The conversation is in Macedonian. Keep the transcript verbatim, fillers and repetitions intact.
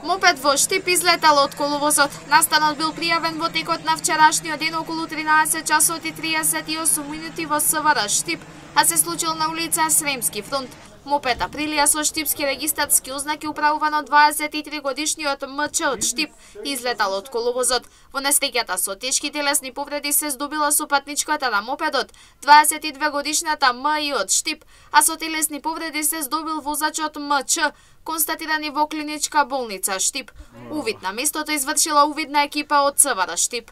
Мопед во Штип излетал од коловозот. Настанот бил пријавен во текот на вчерашниот ден околу тринаесет часот и триесет и осум минути во СВР Штип, а се случил на улица Сремски фронт. Мопед Априлија со штипски регистарски ознаки управуван од дваесет и три годишниот М Ч од Штип излетал од коловозот. Во несреќата со тешки телесни повреди се здобила сопатничката на мопедот, дваесет и две годишната М И од Штип, а со телесни повреди се здобил возачот М Ч, констатирани во клиничка болница Штип. Увид на местото извршила увидна екипа од СВР Штип.